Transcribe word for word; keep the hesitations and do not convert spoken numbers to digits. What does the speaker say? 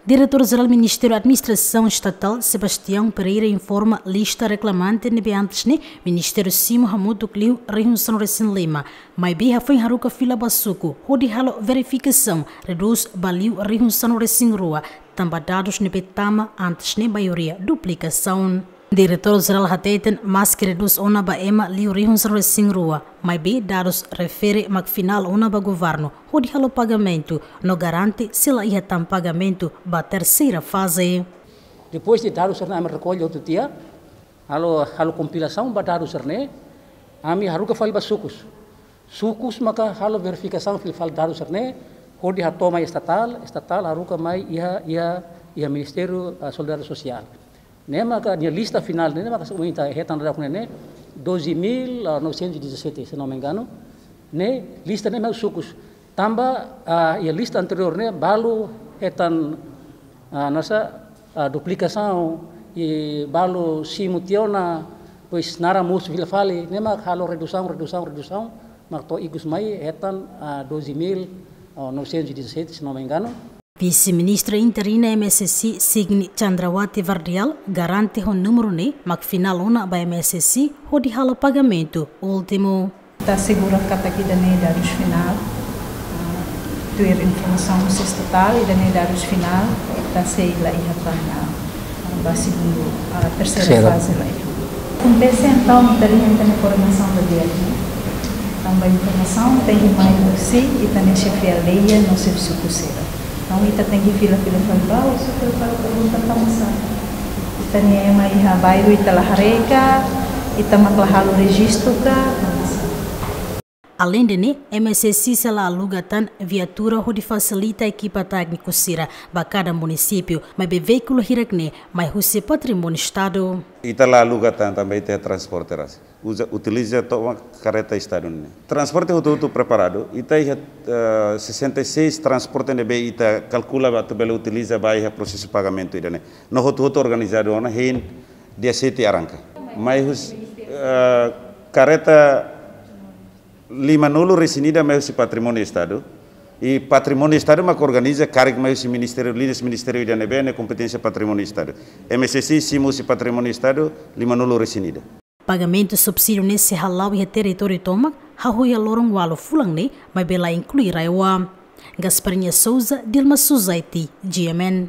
Diretór Jerál Ministériu Administrasaun Estatál, Sebastião Pereira, informa lista reklamante ne'ebé antes ne'e Ministériu simu hamutuk liu rihun sanulu-resin-lima, maibé hafoin haruka fila ba suku hodi halo verifikasaun, redús ba liu rihun sanulu-resin-rua, tanba dadus ne'ebé tama antes ne'e maioria duplikasaun. Diretór Jerál hateten, maski redús ona ba ema liu rihun sanulu-resin-rua, maibé dadus refere mak finál ona ba governu hodi halo pagamentu, no garante sei la iha tan pagamentu ba terseira faze. Depois de dadus sira-ne'e ami rekolle hotu tiha, halo, halo kompilasaun ba dadus sira-ne'e, ami haruka fali ba sukus. Sukus maka halo verifikasaun fila fali dadus sira-ne'e, hodi hato'o mai estatál, estatál haruka mai iha, iha, iha Ministériu, ah, Solidariedade Sosiál. Ne'e maka nia lista finál ne'e, ne'e maka se ita hetan daudaun ne'e, doze mil novecentos e dezassete, se não me engano. Ne'e lista ne'e mak sukus. Tanba, ah, iha lista anteriór ne'e balu hetan, ah, nasa, ah, duplikasaun, i balu simu tiha ona, depois naran mosu fila fali, ne'e mak halo redusaun, redusaun, redusaun, mak to'o ikus mai hetan, ah, doze mil novecentos e dezassete, se não me engano. Vise-Ministra Interina M S C, Signy Chandrawati Vardial, garante ho númeru ne'e mak finál ona ba M S C hodi halo pagamentu últimu. Ita asegura katak ida-ne'e dadus finál, ah, tuir informasaun husi estatál, ida-ne'e dadus finál, ita sei la iha tan, ah, ba segundu, ah, terseira Terseira. faze la iha. Akontese entaun, ita liu ita-nia koordenasaun ba di'ak, ne'e? Tanba informasaun tenke mai husi ita-nia xefe aldeia no xefe suku sira. Entaun ita tenke fila, fila fali ba, husu fila fali pergunta tanbasá ita-nia ema iha bairru ita la haree ka, ita mak la halo rejistu ka, tanbasá. Aleinde ne'e, M S C sei la aluga tan viatura hodi fasilita ekipa tékniku sira ba kada munisípiu, maibé veíkulu hirak ne'e mai husi patrimóniu Estadu. Ita la aluga tan, tanba ita transporte rasik. Uza, utiliza tomak kareta Estadu ne'e. Transporte hotu-hotu preparadu, ita iha, eh, sessenta e seis transporte ne'ebé ita kalkula ba atu bele utiliza ba iha prosesu pagamentu ida-ne'e. No hotu-hotu organizadu ona hein dia sete arranka. Mai husi, eh, kareta limanulu-resin-ida mai husi patrimóniu Estadu. I patrimóniu Estadu mak organiza karik mai husi ministériu, liñas ministériu ida ne'ebé ne'e kompeténsia patrimóniu Estadu. M S C simu husi patrimóniu Estadu limanulu-resin-ida. Pagamentu subsídiu ne'e sei hala'o iha territóriu tomak, hahú iha loron ualu fulan ne'e, maibé la inklui RAEOA. Gasparinha Souza, Dilma Suzaiti, G M N.